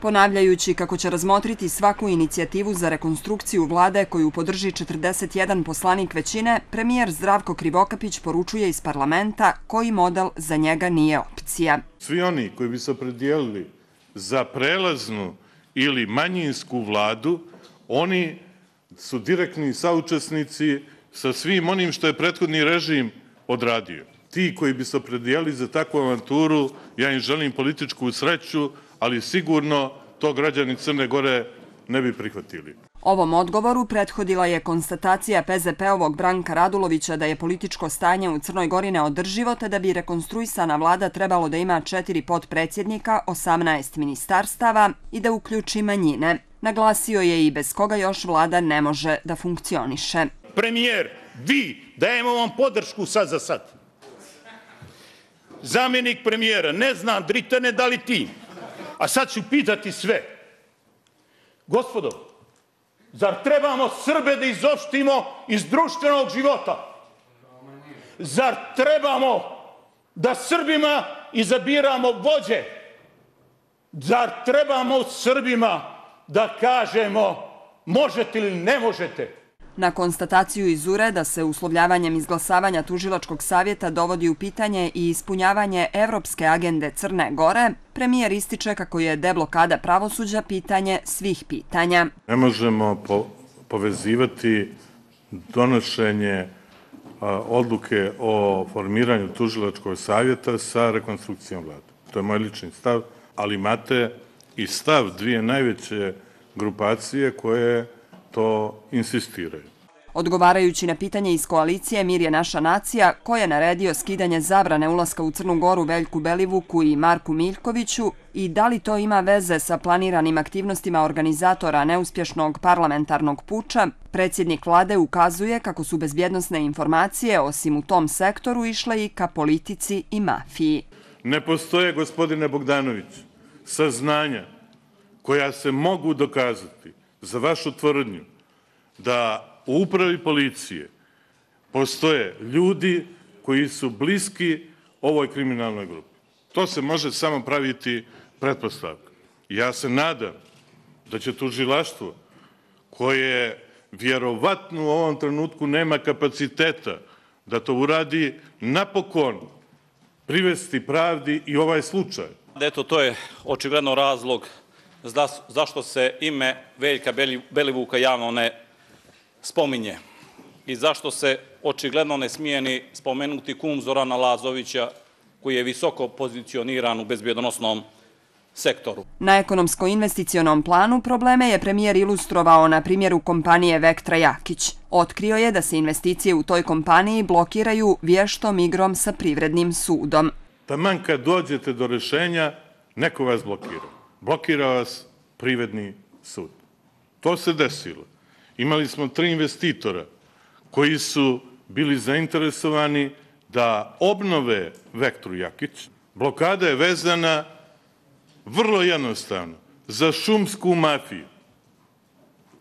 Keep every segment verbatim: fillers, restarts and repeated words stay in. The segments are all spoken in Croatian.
Ponavljajući kako će razmotriti svaku inicijativu za rekonstrukciju vlade koju podrži četrdeset jedan poslanik većine, premijer Zdravko Krivokapić poručuje iz parlamenta koji model za njega nije opcija. Svi oni koji bi se opredijelili za prelaznu ili manjinsku vladu, oni su direktni saučesnici sa svim onim što je prethodni režim odradio. Ti koji bi se opredijelili za takvu avanturu, ja im želim političku sreću, ali sigurno to građani Crne Gore ne bi prihvatili. Ovom odgovoru prethodila je konstatacija P Z P-ovog Branka Radulovića da je političko stanje u Crnoj Gori neodrživo, te da bi rekonstruisana vlada trebalo da ima četiri potpredsjednika, osamnaest ministarstava i da uključi manjine. Naglasio je i bez koga još vlada ne može da funkcioniše. Premijer, vi, dajemo vam podršku sad za sad. Zamjenik premijera, ne znam, Dritane, da li ti? A sad ću pitati sve. Gospodo, zar trebamo Srbe da izopštimo iz društvenog života? Zar trebamo da Srbima izabiramo vođe? Zar trebamo Srbima da kažemo možete ili ne možete? Na konstataciju iz U R E da se uslovljavanjem izglasavanja tužilačkog savjeta dovodi u pitanje i ispunjavanje evropske agende Crne Gore, premijer ističe kako je deblokada pravosuđa pitanje svih pitanja. Ne možemo po povezivati donošenje a, odluke o formiranju tužilačkog savjeta sa rekonstrukcijom vlade. To je moj lični stav, ali imate i stav dvije najveće grupacije koje to insistiraju. Odgovarajući na pitanje iz koalicije Mir je naša nacija, ko je naredio skidanje zabrane ulaska u Crnu Goru Veljku Belivuku i Marku Miljkoviću i da li to ima veze sa planiranim aktivnostima organizatora neuspješnog parlamentarnog puča, predsjednik vlade ukazuje kako su bezbjednosne informacije, osim u tom sektoru, išle i ka politici i mafiji. Ne postoje, gospodine Bogdanović, saznanja koja se mogu dokazati za vašu tvrdnju da u upravi policije postoje ljudi koji su bliski ovoj kriminalnoj grupi. To se može samo praviti pretpostavka. Ja se nadam da će tužilaštvo, koje vjerovatno u ovom trenutku nema kapaciteta da to uradi, napokon privesti pravdi i ovaj slučaj. Eto, to je očigledno razlog zašto se ime Veljka Belivuka javno ne spominje i zašto se očigledno ne smije ni spomenuti kum Zorana Lazovića, koji je visoko pozicioniran u bezbjednosnom sektoru. Na ekonomsko-investicionom planu probleme je premijer ilustrovao na primjeru kompanije Vektra Jakić. Otkrio je da se investicije u toj kompaniji blokiraju vještom igrom sa privrednim sudom. Taman kad dođete do rješenja, neko vas blokira. Blokira vas privredni sud. To se desilo. Imali smo tri investitora koji su bili zainteresovani da obnove Vektru Jakić. Blokada je vezana vrlo jednostavno za šumsku mafiju,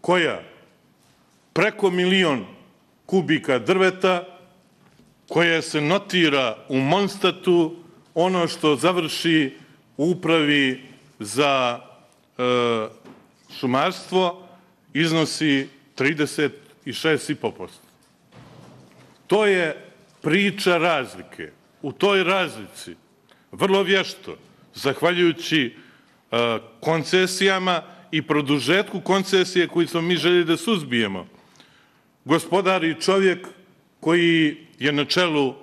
koja preko milion kubika drveta, koja se notira u Monstatu, ono što završi u upravi za e, šumarstvo, iznosi trideset šest zarez pet posto. To je priča razlike. U toj razlici, vrlo vješto, zahvaljujući e, koncesijama i produžetku koncesije koji smo mi željeli da suzbijemo, gospodari čovjek koji je na čelu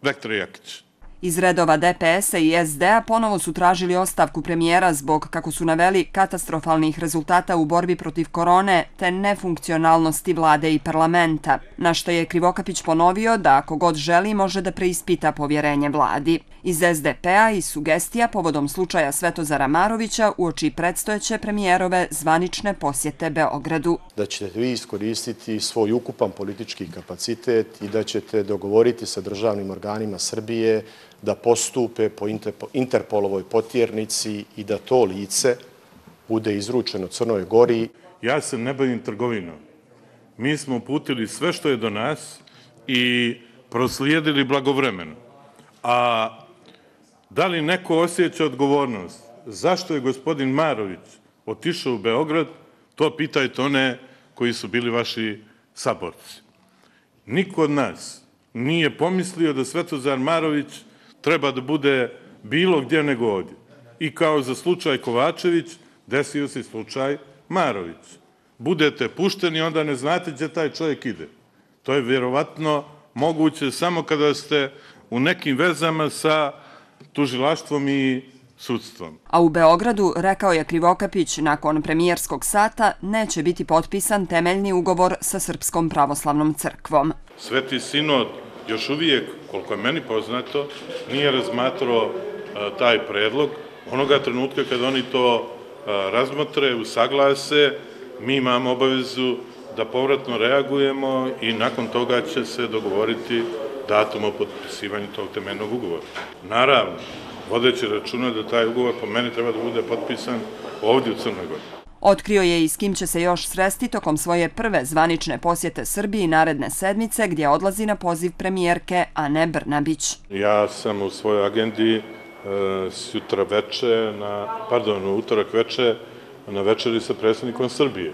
Vektra Jakića. Iz redova D P S-a i S D-a ponovo su tražili ostavku premijera zbog, kako su naveli, katastrofalnih rezultata u borbi protiv korone te nefunkcionalnosti vlade i parlamenta, na što je Krivokapić ponovio da ako god želi može da preispita povjerenje vladi. Iz S D P-a i sugestija povodom slučaja Svetozara Marovića uoči predstojeće premijerove zvanične posjete Beogradu. Da ćete vi iskoristiti svoj ukupan politički kapacitet i da ćete dogovoriti sa državnim organima Srbije da postupe po Interpolovoj potjernici i da to lice bude izručeno Crnoj Gori. Ja se ne bavim trgovinom. Mi smo uputili sve što je do nas i proslijedili blagovremeno. A da li neko osjeća odgovornost zašto je gospodin Marović otišao u Beograd, to pitajte one koji su bili vaši saborci. Niko od nas nije pomislio da Svetozar Marović treba da bude bilo gdje nego ovdje. I kao za slučaj Kovačević, desio se slučaj Marović. Budete pušteni, onda ne znate gdje taj čovjek ide. To je vjerovatno moguće samo kada ste u nekim vezama sa tužilaštvom i sudstvom. A u Beogradu, rekao je Krivokapić, nakon premijerskog sata neće biti potpisan temeljni ugovor sa Srpskom pravoslavnom crkvom. Sveti sinod još uvijek, koliko je meni poznato, nije razmatrao taj predlog. Onoga trenutka kad oni to razmotre, usaglase, mi imamo obavezu da povratno reagujemo i nakon toga će se dogovoriti datum o potpisivanju tog temeljnog ugovora. Naravno, vodeći računa da taj ugovor po meni treba da bude potpisan ovdje u Crnoj Gori. Otkrio je i s kim će se još sresti tokom svoje prve zvanične posjete Srbiji naredne sedmice, gdje odlazi na poziv premijerke Ane Brnabić. Ja sam u svojoj agendi sutra veče, pardon, u utorak veče na večeri sa predsjednikom Srbije.